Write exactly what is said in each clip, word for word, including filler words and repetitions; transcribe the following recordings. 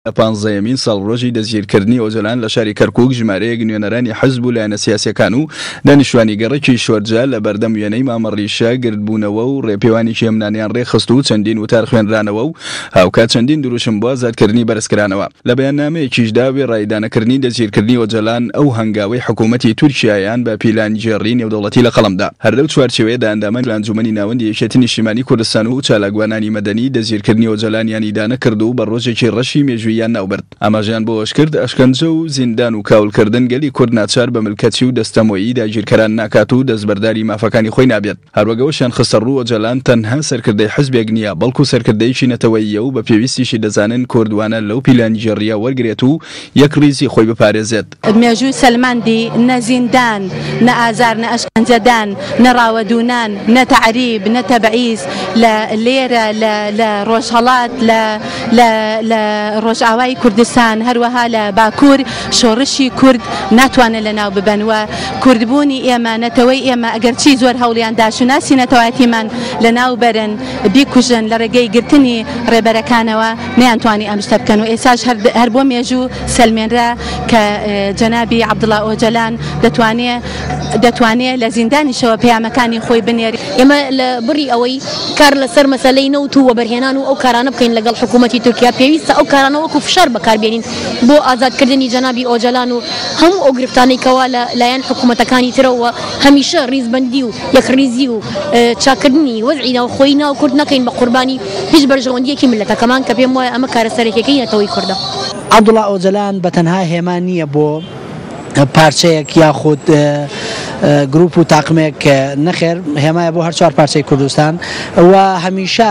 لە پانزەیەمین ساڵڕۆژی دەستگیرکردنی ئۆجەلان لە شاری کەرکوک ژمارەیەک نوێنەرانی حزب و لایەنە سیاسیەکان و دانیشتوانی گەڕەکی شۆرجە لە بەردەم وێنەی مامە ڕیشە گردبوونەوە و ڕێپێوانێکی هێمنانیان ڕێکخست و چەندین وتار خوێنرانەوە و هاوکات چەندین دروشم بۆ ئازادکردنی بەرزکرانەوە. لە بەیاننامەیەکیشدا وێڕای ئیدانەکردنی دەستگیرکردنی ئۆجەلان ئەو هەنگاوەی حکوومەتی تورکیایان بە پیلانگێڕی نێودەوڵەتی لە قەڵەمدا. هەر لەو چوارچێوەیەدا ئەندامانی ئەنجوومەنی ناوەندی یەکێتی نیشتیمانی کوردستان و چالاکوانانی مەدەنی دەستگیرکردنی ئۆجەلانیان ئیدانە کرد و بە ڕۆژێکی ڕەشی مێژووییان ناوبرد. ئاماژەیان بەوەشکرد، ئەشکەنجە و زیندان و کاولکردن گەلی کورد ناچار بە ملکەچی و دەستەمۆیی داگیرکەران ناکات و دەستبەرداری مافەکانی خۆی نابێت. هەروەک ئەوەشیان خستەڕوو، ئۆجەلان تەنها سەرکردەی حزبێک نییە، بەڵکو سەرکردەیەکی نەتەوەییە و بە پێویستیشی دەزانن کورد وانە لەو پیلانگێڕییە وەرگرێت و یەکڕیزی خۆی بپارێزێت. مێژوو سەلماندی نە زیندان، نە ئازار، نە ئەشکەنجەدان، نە ڕاوەدوونان، نە تەعریب، نە تەبعیز لە لێرە لە لە ڕۆژهەڵات، لە لە لە ڕۆژئاوای کوردستان، هەروەها لە باکوور شۆڕشی کورد ناتوانن لەناو ببەن و کوردبوونی ئێمە، نەتەوەی ئێمە ئەگەرچی زۆر هەوڵیان دا شوناسی نەتەوایەتیمان لەناو بەرن، بیکوژن لە ڕێگەی گرتنی ڕێبەرەکانەوە نەیانتوانی ئەم شتە بکەن و ئێستاش هەر بۆ مێژوو سەلمێنرا کە جەنابی عەبدوڵا ئۆجەلان دەتوانێ دەتوانێ لە زیندانیشەوە پەیامەکانی خۆی بنێرێ. ئێمە لە بڕی ئەوەی کار لەسەر مەسەلەی نەوت و وەبەرهێنان و ئەو کارانە بکەین لەگەڵ حکوومەتی تورکیا، پێویستە ئەو کارانە وەکو فشار بەکاربێنین بۆ ئازادکردنی جەنابی ئۆجەلان و هەموو ئەو گرفتانەی کەوا لە لایەن حکوومەتەکانی ترەوە هەمیشە ڕیزبەندی و یەکڕیزی و چاککردنی وەزعی ناوخۆیی ناو کورد نەکەین بە قوربانی هیچ بەرژەوەندییەکی میللەتەکەمان کە پێم وایە ئەمە کارە سەرەکیەکەی نەتەوەی کوردە. عەبدوڵا ئۆجەلان بە تەنها هێما نییە بۆ پارچەیەک یاخود گروپ و تاقمێک، نەخێر، هێمایە بۆ هەر چوار پارچەی کوردستان و هەمیشە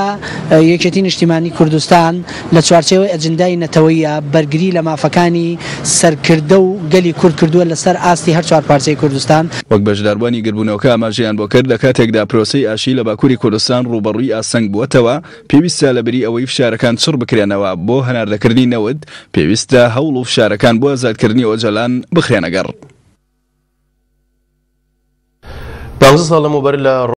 یەکێتی نیشتیمانی کوردستان لە چوارچێوەی ئەجندای نەتەوەیە بەرگری لە مافەکانی سەرکردە و گەلی کورد کردووە لەسەر ئاستی هەر چوار پارچەی کوردستان. وەک بەشداربووانی گردبوونەوەکە ئاماژەیان بۆ کرد، لە کاتێکدا پرۆسەی ئاشتی لە باکووری کوردستان ڕووبەڕووی ئاستەنگ بووەتەوە، پێویستە لەبری ئەوەی فشارەکان چڕ بکرێنەوە بۆ هەناردەکردنی نەوت، پێویستە هەوڵ و فشارەکان بۆ ئازادکردنی ئۆجەلان بخرێنە گەڕ. پانزە ساڵ لەمەوبەر لە